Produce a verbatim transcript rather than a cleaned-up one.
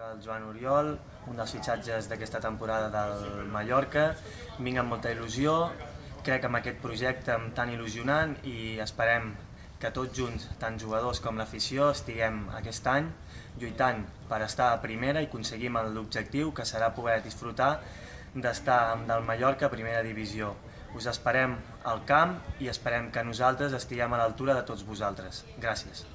El Joan Oriol, un dels fitxatges d'aquesta temporada del Mallorca. Vinc amb molta il·lusió, crec en aquest projecte tan il·lusionant i esperem que tots junts, tant jugadors com l'afició, estiguem aquest any lluitant per estar a primera i aconseguim l'objectiu que serà poder disfrutar d'estar amb del Mallorca a primera divisió. Us esperem al camp i esperem que nosaltres estiguem a l'altura de tots vosaltres. Gràcies.